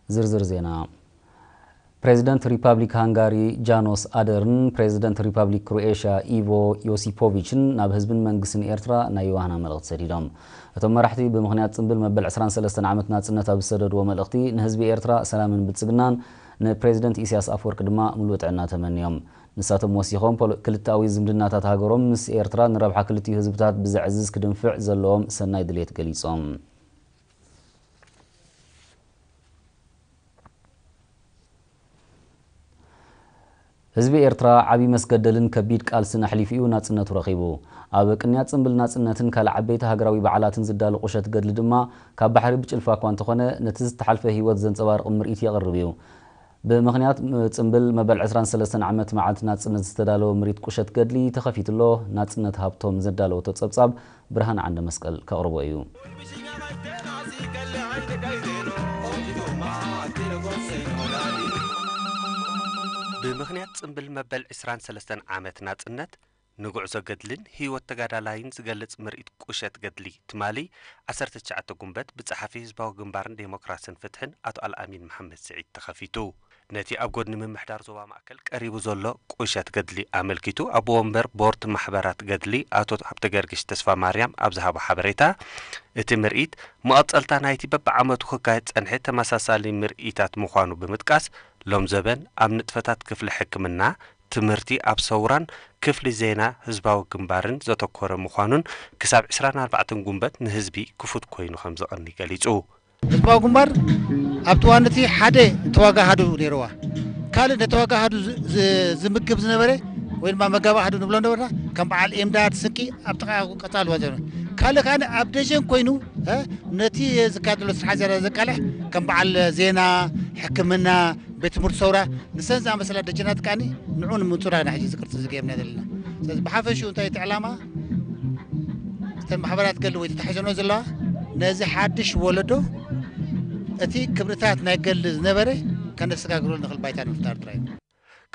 ዝርዝር ዜና። ፕሬዚደንት ሪፓብሊክ ሃንጋሪ ጃኖስ ኣደርን ፕሬዚደንት ሪፓብሊክ ክሮኤሽያ ኢቮ ዮሲፖቪችን ናብ ህዝብን መንግስትን ኤርትራ ናይ ዮሃና መልእኽቲ ሰዲዶም። እቶም መራሕቲ ብምኽንያት ጽምብል መበል ዕስራን ሰለስተን ዓመት ናጽነት ኣብ ዝሰደድዎ መልእኽቲ፣ ንህዝቢ ኤርትራ ሰላምን ብልጽግናን፣ ንፕሬዚደንት ኢሳያስ ኣፈወርቂ ድማ ምሉእ ጥዕና ተመንዮም። ንሳቶም ወሲኾም፣ ፖለ-፣ ክልተኣዊ ዝምድናታት ሃገሮም ምስ ኤርትራ ንረብሓ ክልቲኡ ህዝብታት ብዘዕዝዝ ክድንፍዕ ዘለዎም ሰናይ ድሌት ገሊጾም። ህዝቢ ኤርትራ ዓቢ መስገደልን ከቢድ ቃልስን ኣሕሊፉ እዩ ናጽነቱ ረኺቡ። ኣብ ቅንያት ጽምብል ናጽነትን ካልእ ዓበይቲ ሃገራዊ በዓላትን ዝዳሎ ቁሸት ገድሊ ድማ፣ ካብ ባሕሪ ብጭልፋ እኳ እንተኾነ፣ ነቲ ዝተሓልፈ ህይወት ዘንጸባርቕ ምርኢት የቕርብ እዩ። ብምኽንያት ጽምብል መበል ዕስራን ሰለስተን ዓመት መዓልቲ ናጽነት ዝተዳለወ ምርኢት ቁሸት ገድሊ ተኸፊቱ ኣሎ። ናጽነት ሃብቶም ዘዳለወቶ ጸብጻብ ብርሃን ዓንደ መስቀል ከቕርቦ እዩ። ብምኽንያት ጽምብል መበል ዕስራን ሰለስተን ዓመት ናጽነት፣ ንጉዕዞ ገድልን ህይወት ተጋዳላይን ዝገልጽ ምርኢት ቁሸት ገድሊ፣ ትማሊ ዓሰርተ ትሽዓተ ጉንበት ብጸሓፊ ህዝባዊ ግንባርን ዴሞክራስን ፍትሕን ኣቶ ኣልኣሚን መሓመድ ስዒድ ተኸፊቱ። ነቲ ኣብ ጎድኒ ምምሕዳር ዞባ ማእከል ቀሪቡ ዘሎ ቁሸት ገድሊ ኣመልኪቱ፣ ኣቦ ወንበር ቦርድ ማሕበራት ገድሊ ኣቶ ሃብተገርግሽ ተስፋማርያም ኣብ ዝሃቦ ሓበሬታ፣ እቲ ምርኢት መቐጸልታ ናይቲ በብዓመቱ ክካየድ ጸንሐ ተመሳሳሊ ምርኢታት ምዃኑ ብምጥቃስ፣ ሎም ዘበን ኣብ ንጥፈታት ክፍሊ ሕክምና፣ ትምህርቲ ኣብ ሰውራን ክፍሊ ዜና ህዝባዊ ግንባርን ዘተኮረ ምዃኑን፣ ክሳብ ዕስራን ኣርባዕተን ጉንበት ንህዝቢ ክፉት ኮይኑ ከም ዝቐኒ ገሊጹ። ህዝባዊ ግንባር ኣብቲ እዋን እቲ ሓደ ተዋጋሃዱ ነይርዋ። ካልእ ነተዋጋሃዱ ዝ-፣ ዝ-፣ ዝምግብ ዝነበረ ወይ ድማ መጋቢ ኣሃዱ ንብሎ ነበርና፣ ከም በዓል ኤምዳድ፣ ስንቂ ኣብ ጥቓ ቀጻሊ ወዘተ። ካልእ ከኣ ኣብ ደጀን ኮይኑ፣ እ፣ ነቲ ዝካየድ ዘሎ ስራሕ ዝያዳ ዘቃልሕ ከም በዓል ዜና፣ ሕክምና፣ ቤት ትምህርቲ ሰውራ፣ ንሰን ዝኣመሰላ ደጀናት ከኣ ንዑ ንምንጹር ኢና ሕጂ እዚ ቅርጺ እዚ ገይርና ዘለና። ስለዚ ብሓፈሽኡ እንታይ እቲ ዕላማ፣ እተን ማሕበራት ገድሊ ወይ ተታሒዘንኦ ዘለዋ ነዚ ሓድሽ ወለዶ እቲ ክብርታት ናይ ገድሊ ዝነበረ ከነሰጋግረሉ ንኽእል ባይታ ንምፍጣር ጥራይ እዩ።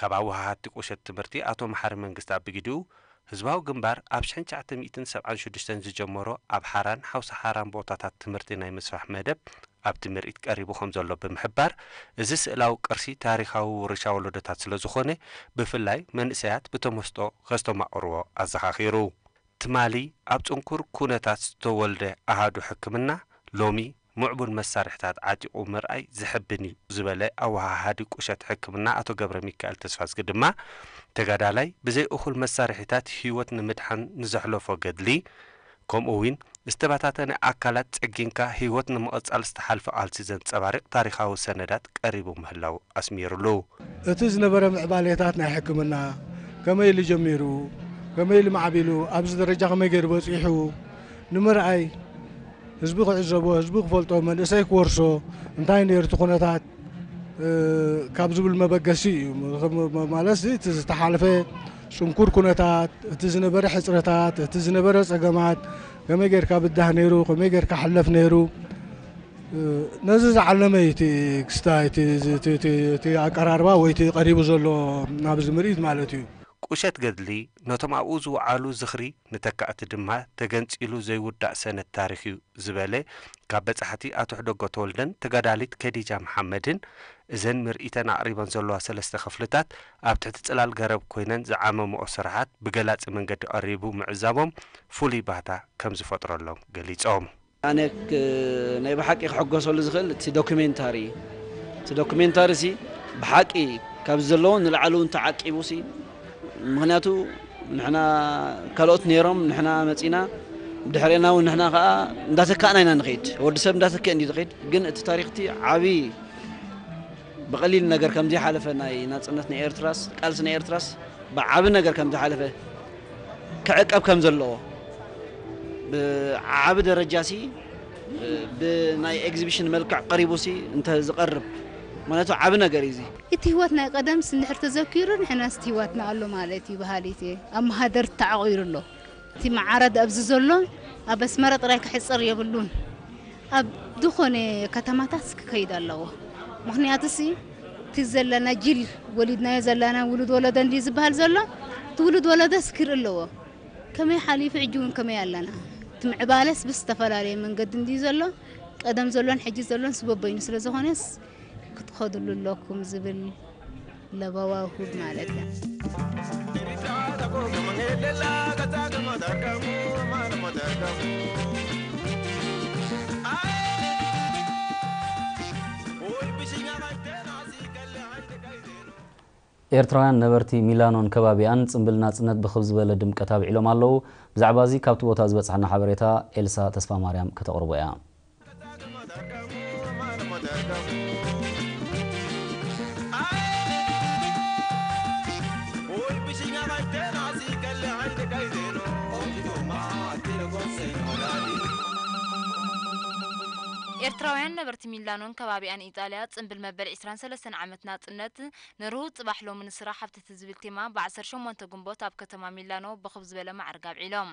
ካብ ኣወሃሃድቲ ቁሸት ትምህርቲ ኣቶ መሓሪ መንግስቲ ኣብ ብግዲኡ፣ ህዝባዊ ግንባር ኣብ ሽሕን ትሽዓተ ሚእትን ሰብዓን ሽዱሽተን ዝጀመሮ ኣብ ሓራን ሓውሲ ሓራን ቦታታት ትምህርቲ ናይ ምስፋሕ መደብ ኣብቲ ምርኢት ቀሪቡ ከም ዘሎ ብምሕባር፣ እዚ ስእላዊ ቅርሲ ታሪኻዊ ውርሻ ወለዶታት ስለ ዝኾነ፣ ብፍላይ መንእሰያት ብተመስጦ ከስተማቕርዎ ኣዘኻኺሩ። ትማሊ ኣብ ጽንኩር ኩነታት ዝተወልደ ኣሃዱ ሕክምና፣ ሎሚ ምዕቡል መሳርሕታት ዓጢቑ ምርኣይ ዘሕብን እዩ ዝበለ ኣወሃሃዲ ቁሸት ሕክምና ኣቶ ገብረ ሚካኤል ተስፋዝጊ ድማ፣ ተጋዳላይ ብዘይ እኹል መሳርሒታት ህይወት ንምድሓን ንዘሕለፎ ገድሊ፣ ከምኡ እውን ዝተበታተነ ኣካላት ጸጊንካ ህይወት ንምቕጻል ዝተሓልፈ ቃልሲ ዘንጸባርቕ ታሪኻዊ ሰነዳት ቀሪቡ ምህላው ኣስሚሩሉ። እቲ ዝነበረ ምዕባሌታት ናይ ሕክምና ከመይ ኢሉ ጀሚሩ፣ ከመይ ኢሉ ማዕቢሉ፣ ኣብዚ ደረጃ ከመይ ገይሩ በጺሑ ንምርኣይ፣ ህዝቢ ክዕዘቦ፣ ህዝቢ ክፈልጦ፣ መንእሰይ ክወርሶ፣ እንታይ ነይሩ እቲ ኩነታት፣ እ፣ ካብ ዝብል መበገሲ እዩ። ም-፣ ም-፣ ማለት እዚ እቲ ዝተሓልፈ ጽንኩር ኩነታት፣ እቲ ዝነበረ ሕጽረታት፣ እቲ ዝነበረ ጸገማት፣ ከመይ ጌርካ ብዳህ ነይሩ፣ ከመይ ጌርካ ሕለፍ ነይሩ፣ እ፣ ነዚ ዝዓለመ እዩ እቲ ክስታይ፣ እቲ፣ እቲ፣ እቲ፣ እቲ ኣቀራርባ ወይ እቲ ቀሪቡ ዘሎ ናብዚ ምርኢት ማለት እዩ። ቁሸት ገድሊ ነቶም ኣብኡ ዝወዓሉ ዝኽሪ፣ ንተካእቲ ድማ ተገንጺሉ ዘይውዳእ ሰነድ ታሪኽ እዩ ዝበለ ካብ በጻሕቲ ኣቶ ሕደጎ ተወልደን ተጋዳሊት ከዲጃ መሓመድን፣ እዘን ምርኢተን ኣቕሪበን ዘለዋ ሰለስተ ክፍልታት ኣብ ትሕቲ ጽላል ገረብ ኮይነን ዝዓመምኦ ስራሓት ብገላጺ መንገዲ ቀሪቡ ምዕዛቦም ፍሉይ ባህታ ከም ዝፈጥረሎም ገሊጾም። ኣነ ክ-፣ ናይ ብሓቂ ክሕጎሰሉ ዝኽእል እቲ ዶክሜንታሪ እዩ። እቲ ዶክሜንታሪ ሲ ብሓቂ ካብ ዘለዉ ንላዕሊ እውን ተዓቂቡ ሲ፣ ምኽንያቱ ንሕና ካልኦት ነይሮም፣ ንሕና መጺና፣ ብድሕሬና እውን ንሕና ከኣ እንዳተካእና ኢና ንኸይድ። ወዲ ሰብ እንዳተክአ እንዲ ዝኸይድ። ግን እቲ ታሪኽቲ ዓቢ ብቐሊል ነገር ከም ዘይሓለፈ ናይ ናጽነት ናይ ኤርትራስ፣ ቃልሲ ናይ ኤርትራስ ብዓቢ ነገር ከም ዝሓለፈ ክዕቀብ ከም ዘለዎ፣ ብዓቢ ደረጃ ሲ ብናይ ኤግዚቢሽን መልክዕ ቀሪቡ ሲ እንተ ዝቐርብ፣ ምኽንያቱ ዓቢ ነገር እዩ እዚ። እቲ ህይወት ናይ ቀደምስ እንድሕር ተዘኪሩ፣ ንሕናስ እቲ ህይወትና ኣሎ ማለት እዩ በሃሊት እየ። ኣብ መሃደር ተዓቑሩ ኣሎ። እቲ መዓረድ ኣብዚ ዘሎ ኣብ ኣስመራ ጥራይ ክሕጸር የብሉን። ኣብ ዝኾነ ከተማታት ክከይድ ኣለዎ። ምኽንያቱ ሲ እቲ ዘለና ጅል ወሊድናዮ ዘለና ውሉድ ወለዶ እንዲ ዝበሃል ዘሎ፣ እቲ ውሉድ ወለዶስ ክርኢ ኣለዎ። ከመይ ሓሊፉ ሕጂ እውን ከመይ ኣለና? እቲ ምዕባለስ ብዝተፈላለየ መንገዲ እንዲ ዘሎ፣ ቀደም ዘሎን ሕጂ ዘሎን ስበበይኑ ስለ ዝኾነስ ትኸድሉ ኣለኩም ዝብል ለበዋ ውሁድ ማለት እያ። ኤርትራውያን ነበርቲ ሚላኖን ከባቢኣን ጽምብል ናጽነት ብኽብ ዝበለ ድምቀት ኣብዒሎም ኣለዉ። ብዛዕባ እዚ ካብቲ ቦታ ዝበጽሓና ሓበሬታ ኤልሳ ተስፋማርያም ከተቕርቦ እያ። ኤርትራውያን ነበርቲ ሚላኖን ከባቢኣን ኢጣልያ ጽምብል መበል ዕስራን ሰለስተን ዓመት ናጽነት ንርሁው ጽባሕ ሎሚ ንስራሕ ኣብቲ ዝብል ቴማ ብዓሰርተ ሸሞንተ ግንቦት ኣብ ከተማ ሚላኖ ብኽብ ዝበለ ማዕርግ ኣብዒሎም።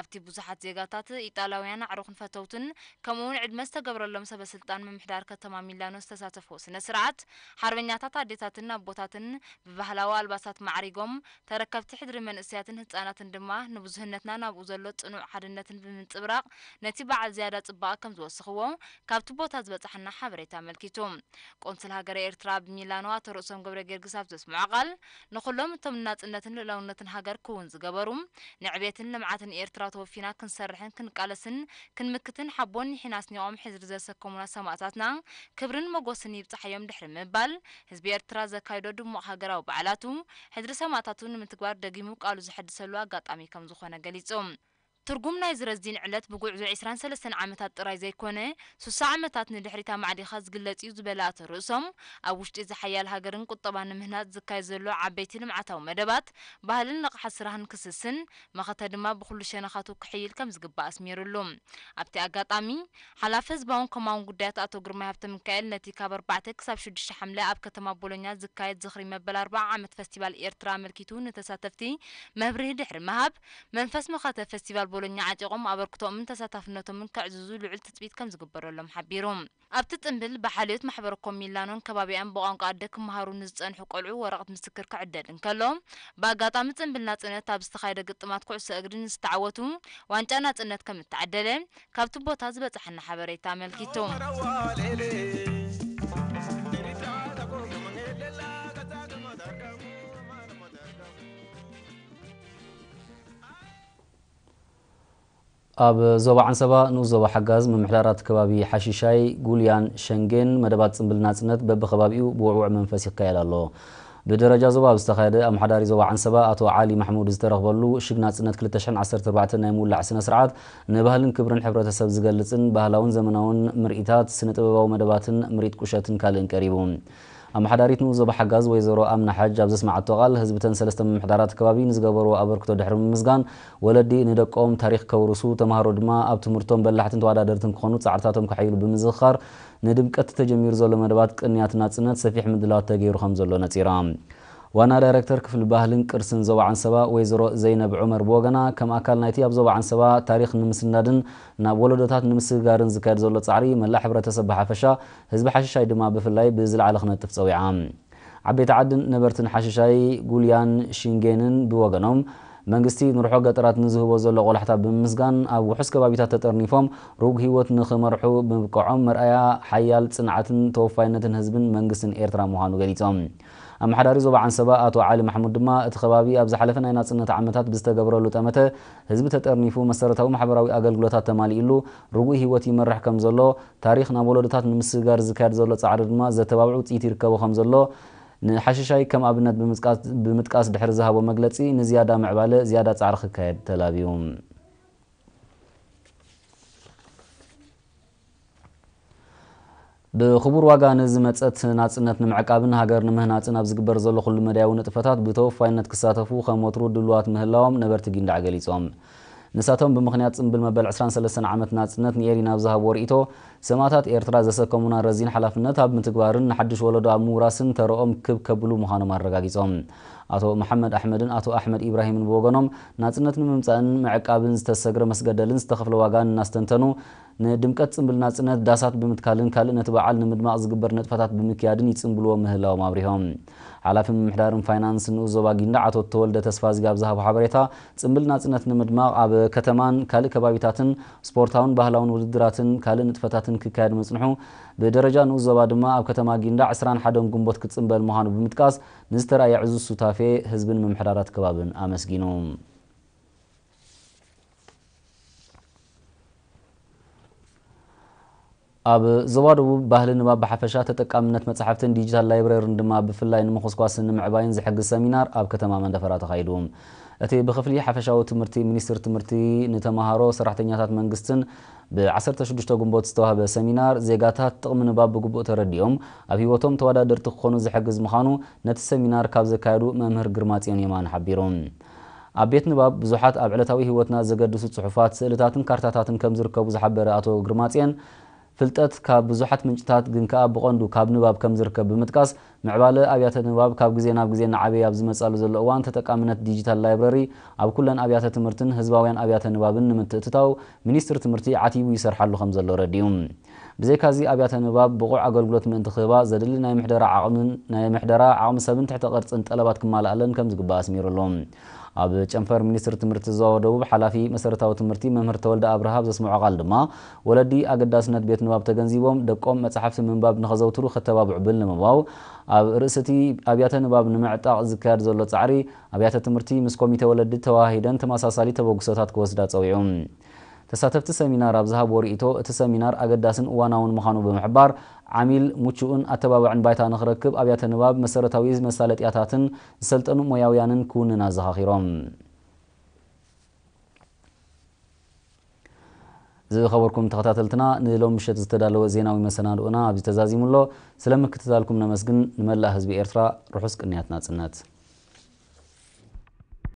ኣብቲ ብዙሓት ዜጋታት ኢጣልያውያን ኣዕሩኽን ፈተውትን ከምኡውን ዕድመ ዝተገብረሎም ሰበ ስልጣን ምምሕዳር ከተማ ሚላኖ ዝተሳተፍዎ ስነ ስርዓት ሓርበኛታት ኣዴታትን ኣቦታትን ብባህላዊ ኣልባሳት ማዕሪጎም ተረከብቲ ሕድሪ መንእሰያትን ህጻናትን ድማ ንብዙህነትና ናብኡ ዘሎ ጽኑዕ ሓድነትን ብምንጽብራቕ ነቲ በዓል ዝያዳ ጽባቐ ከም ዝወሰኽዎ ካብቲ ቦታ ዝበጻሓና ሓበሬታ ኣመልኪቱ። ቆንስል ሃገረ ኤርትራ ኣብ ሚላኖ ኣቶ ርእሶም ገብረ ጊዮርጊስ ኣብ ዘስምዖ ቃል ንኹሎም እቶም ንናጽነትን ልእላውነትን ሃገር ክውን ዝገበሩ ንዕቤትን ልምዓትን ኤርትራ ተወፊና ክንሰርሕን ክንቃለስን ክንምክትን ሓቦን ኒሒን ኣስኒቖም ሕድሪ ዘሰከሙና ሰማእታትና ክብርን ሞጎስን ይብጻሓዮም ድሕሪ ምባል ህዝቢ ኤርትራ ዘካይዶ ድሙቕ ሃገራዊ በዓላቱ ሕድሪ ሰማእታቱ ንምትግባር ደጊሙ ቃሉ ዘሐድሰሉ ኣጋጣሚ ከም ዝኾነ ገሊጹ። ትርጉም ናይዚ ረዚን ዕለት ብጉዕዞ ዕስራን ሰለስተን ዓመታት ጥራይ ዘይኮነ ሱሳ ዓመታት ንድሕሪት ኣማዕዲኻ ዝግለጽ እዩ ዝበለ ኣቶ ርእሶም ኣብ ውሽጢ እዚ ሓያል ሃገርን ቁጠባን ንምህናጽ ዝካየድ ዘሎ ዓበይቲ ልምዓታዊ መደባት ባህልን ንቕሓት ስራህን ክስስን መኸተ ድማ ብኹሉ ሸነኻቱ ክሕይል ከም ዝግባእ ኣስሚሩሉ። ኣብቲ ኣጋጣሚ ሓላፊ ህዝባውን ኮማውን ጉዳያት ኣቶ ግርማይ ሃብተሚካኤል ነቲ ካብ ኣርባዕተ ክሳብ ሽዱሽተ ሓምለ ኣብ ከተማ ቦሎኛ ዝካየድ ዝኽሪ መበል ኣርብዓ ዓመት ፈስቲቫል ኤርትራ ኣመልኪቱ ንተሳተፍቲ መብርሂ ድሕሪ ምሃብ መንፈስ መኸተ ፈስቲቫል ቦሎኛ ዓጢቖም ኣበርክቶኦምን ተሳታፍነቶምን ከዕዝዙ ልዑል ትጽቢት ከም ዝግበረሎም ሓቢሩ። ኣብቲ ጽምብል ብሓልዮት ማሕበረ ኮም ሚላኖን ከባቢኣን ብቋንቋ ኣደ ክመሃሩ ንዝጸንሑ ቆልዑ ወረቐት ምስክር ክዕደል እንከሎ ብኣጋጣሚ ጽምብል ናጽነት ኣብ ዝተኻየደ ግጥማት ኩዕሶ እግሪ ንዝተዓወቱ ዋንጫ ናጽነት ከም እተዓደለ ካብቲ ቦታ ዝበጽሓና ሓበሬታ ኣመልኪቱ። ኣብ ዞባ ዓንሰባ ንኡስ ዞባ ሓጋዝ ምምሕዳራት ከባቢ ሓሺሻይ፣ ጉልያን ሸንጌን መደባት ጽምብል ናጽነት በብኸባቢኡ ብውዕውዕ መንፈስ ይካየድ ኣሎ። ብደረጃ ዞባ ኣብ ዝተኻየደ ኣመሓዳሪ ዞባ ዓንሰባ ኣቶ ዓሊ ማሕሙድ ዝተረኽበሉ ሽግ ናጽነት ክልተ ሽሕን ዓሰርተ ኣርባዕተን ናይ ምውላዕ ስነ ስርዓት ንባህልን ክብርን ሕብረተሰብ ዝገልጽን ባህላውን ዘመናውን ምርኢታት፣ ስነ ጥበባዊ መደባትን ምርኢት ቁሸትን ካልእን ቀሪቡ። ኣመሓዳሪት ንኡስ ዞባ ሓጋዝ ወይዘሮ ኣምና ሓጅ ኣብ ዘስማዓቶ ቃል ህዝብተን ሰለስተ ምምሕዳራት ከባቢ ንዝገበርዎ ኣበርክቶ ድሕሪ ምምስጋን ወለዲ ንደቆም ታሪኽ ከውርሱ፣ ተምሃሮ ድማ ኣብ ትምህርቶም በላሕትን ተወዳደርትን ክኾኑ ጻዕርታቶም ከሐይሉ ብምዝኽኻር ንድምቀት ተጀሚሩ ዘሎ መደባት ቅንያት ናጽነት ሰፊሕ ምድላዋት ተገይሩ ከም ዘሎ ነጺራ። ዋና ዳይረክተር ክፍሊ ባህልን ቅርስን ዞባ ዓንሰባ ወይዘሮ ዘይነብ ዑመር ብወገና ከም ኣካል ናይቲ ኣብ ዞባ ዓንሰባ ታሪኽ ንምስናድን ናብ ወለዶታት ንምስግጋርን ዝካየድ ዘሎ ጻዕሪ መላእ ሕብረተሰብ ብሓፈሻ ህዝቢ ሓሽሻይ ድማ ብፍላይ ብዝለዓለ ክነጥፍ ጸዊዓ። ዓበይቲ ዓድን ነበርትን ሓሽሻይ ጉልያን ሽንጌንን ብወገኖም መንግስቲ ንርሖ ገጠራት ንዝህቦ ዘሎ ቆላሕታ ብምምስጋን ኣብ ውሑስ ከባቢታት ተጠርኒፎም ሩግ ህይወት ንኽመርሑ ብምብቅዖም መርኣያ ሓያል ጽንዓትን ተወፋይነትን ህዝብን መንግስትን ኤርትራ ምዃኑ ገሊጾም። ኣመሓዳሪ ዞባ ዓንሰባ ኣቶ ዓሊ ማሕሙድ ድማ እቲ ከባቢ ኣብ ዝሓለፈ ናይ ናጽነት ዓመታት ብዝተገበረሉ ጠመተ ህዝቢ ተጠርኒፉ መሰረታዊ ማሕበራዊ ኣገልግሎታት ተማሊእሉ ርጉእ ህይወት ይመርሕ ከም ዘሎ ታሪኽ ናብ ወለዶታት ንምስግጋር ዝካየድ ዘሎ ጻዕሪ ድማ ዘተባብዕ ውጽኢት ይርከቦ ከም ዘሎ ንሓሽሻይ ከም ኣብነት ብምጥቃስ ድሕሪ ዝሃቦ መግለጺ ንዝያዳ ምዕባለ ዝያዳ ጻዕሪ ክካየድ ተላብዩ። ብኽቡር ዋጋ ንዝመጸት ናጽነት ንምዕቃብን ሃገር ንምህናጽን ኣብ ዝግበር ዘሎ ኩሉ መዳያዊ ንጥፈታት ብተወፋይነት ክሳተፉ ከም ወትሩ ድሉዋት ምህላዎም ነበርቲ ጊንዳዕ ገሊጾም። ንሳቶም ብምኽንያት ጽምብል መበል ዕስራን ሰለስተን ዓመት ናጽነት ንኤሪና ኣብ ዝሃብዎ ርእይቶ ሰማእታት ኤርትራ ዘሰከሙና ረዚን ሓላፍነት ኣብ ምትግባርን ንሓድሽ ወለዶ ኣብ ምውራስን ተረኦም ክብ ከብሉ ምዃኖም ኣረጋጊጾም። ኣቶ መሓመድ ኣሕመድን ኣቶ ኣሕመድ ኢብራሂምን ብወገኖም ናጽነት ንምምጻእን ምዕቃብን ዝተሰግረ መስገደልን ዝተኸፍለ ዋጋን እናስተንተኑ ንድምቀት ጽምብል ናጽነት ዳሳት ብምትካልን ካልእ ነቲ በዓል ንምድማቕ ዝግበር ንጥፈታት ብምክያድን ይጽምብልዎ ምህላዎም ኣብሪሆም። ሓላፊ ምምሕዳርን ፋይናንስን ንኡስ ዞባ ጊንዳዕ ኣቶ ተወልደ ተስፋዝጊ ኣብ ዝሃቦ ሓበሬታ፣ ጽምብል ናጽነት ንምድማቕ ኣብ ከተማን ካልእ ከባቢታትን ስፖርታውን ባህላውን ውድድራትን ካልእ ንጥፈታትን ክካየድ ምጽንሑ፣ ብደረጃ ንኡስ ዞባ ድማ ኣብ ከተማ ጊንዳዕ ዕስራን ሓደን ግንቦት ክጽምበል ምዃኑ ብምጥቃስ፣ ንዝተራእየ ዕዙዝ ሱታፌ ህዝብን ምምሕዳራት ከባብን ኣመስጊኑ። ኣብ ዞባ ደቡብ ባህሊ ንባብ ብሓፈሻ፣ ተጠቃምነት መጻሕፍትን ዲጂታል ላይብረሪን ድማ ብፍላይ ንምኹስኳስን ንምዕባይን ዝሕግዝ ሰሚናር ኣብ ከተማ መንደፈራ ተኻይዱ። እቲ ብክፍሊ ሓፈሻዊ ትምህርቲ ሚኒስቴር ትምህርቲ ንተምሃሮ፣ ሰራሕተኛታት መንግስትን ብ ዓሰርተ ሽዱሽተ ግንቦት ዝተዋህበ ሰሚናር፣ ዜጋታት ጥቕሚ ንባብ ብግቡእ ተረዲኦም ኣብ ህይወቶም ተወዳደርቲ ክኾኑ ዝሕግዝ ምዃኑ ነቲ ሰሚናር ካብ ዘካየዱ መምህር ግርማጽዮን የማነ ሓቢሩ። ኣብ ቤት ንባብ ብዙሓት ኣብ ዕለታዊ ህይወትና ዘገድሱ ጽሑፋት፣ ስእልታትን ካርታታትን ከም ዝርከቡ ዝሓበረ ኣቶ ግርማጽዮን፣ ፍልጠት ካብ ብዙሓት ምንጭታት ግን ከኣ ብቐንዱ ካብ ንባብ ከም ዝርከብ ብምጥቃስ፣ ምዕባለ ኣብያተ ንባብ ካብ ግዜ ናብ ግዜ እናዓበየ ኣብ ዝመጻሉ ዘሎ እዋን፣ ተጠቃምነት ዲጂታል ላይብረሪ ኣብ ኩለን ኣብያተ ትምህርትን ህዝባውያን ኣብያተ ንባብን ንምትእትታው ሚኒስትሪ ትምህርቲ ዓቲቡ ይሰርሓሉ ከም ዘሎ ረዲኡ። ብዘይካዚ ኣብያተ ንባብ ብቑዕ ኣገልግሎት ምእንቲ ክህባ ዘድሊ ናይ ምሕደራ ዓቕምን ናይ ምሕደራ ዓቕሚ ሰብን ትሕተ ቅርጽን ጠለባት ክማልኣለን ከም ዝግባእ ኣስሚሩሉ። ኣብ ጨንፈር ሚኒስትሪ ትምህርቲ ዞባ ደቡብ ሓላፊ መሰረታዊ ትምህርቲ መምህር ተወልደ ኣብርሃ ኣብ ዘስምዖ ቃል ድማ፣ ወለዲ ኣገዳስነት ቤት ንባብ ተገንዚቦም ደቆም መጻሕፍቲ ምንባብ ንኸዘውትሩ ከተባብዑ ብምልምባው፣ ኣብ ርእሲ እቲ ኣብያተ ንባብ ንምዕጣቕ ዝካየድ ዘሎ ጻዕሪ፣ ኣብያተ ትምህርቲ ምስ ኮሚቴ ወለዲ ተወሃሂደን ተመሳሳሊ ተበግሶታት ክወስዳ ጸዊዑ። ተሳተፍቲ ሰሚናር ኣብ ዝሃብዎ ርእይቶ፣ እቲ ሰሚናር ኣገዳስን እዋናውን ምዃኑ ብምሕባር፣ ዓሚል ምቹእን ኣተባባዕን ባይታ ንኽረክብ ኣብያተ ንባብ መሰረታዊ መሳለጥያታትን ዝሰልጠኑ ሞያውያንን ክውንን ኣዘኻኺሮም። ዝኸበርኩም ተኸታተልትና፣ ንሎም ምሸት ዝተዳለወ ዜናዊ መሰናድኦና ኣብዚ ተዛዚሙ ኣሎ። ስለ ምክትታልኩም ነመስግን። ንመላእ ህዝቢ ኤርትራ ርሑስ ቅንያት ናጽነት።